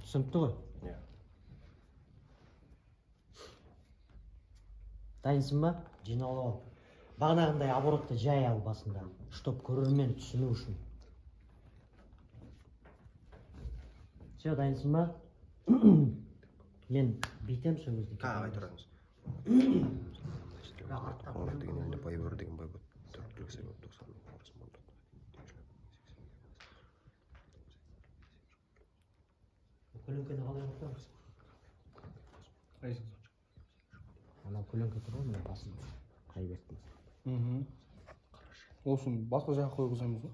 Түсінікті ғой? Иә. Дайынсың ба? Жиналып ал. Бағанағындай оборотты жай ал басында, чтоб көрермен түсіну үшін. Все, дайынсың ба? Мен бейтем сол кезде. Қағай тұрамыз. Қоңыр деген елде бай бөр деген бай бұд. Түркілік себеп 90 мың қорыс мұндық. Көлеңкені қалай ұқтырамыз? Қайсың? Анау көлеңке тұр ғой, мен басында. Қайбеттің. Олсын басқа жаққа қойғызамыз ғой.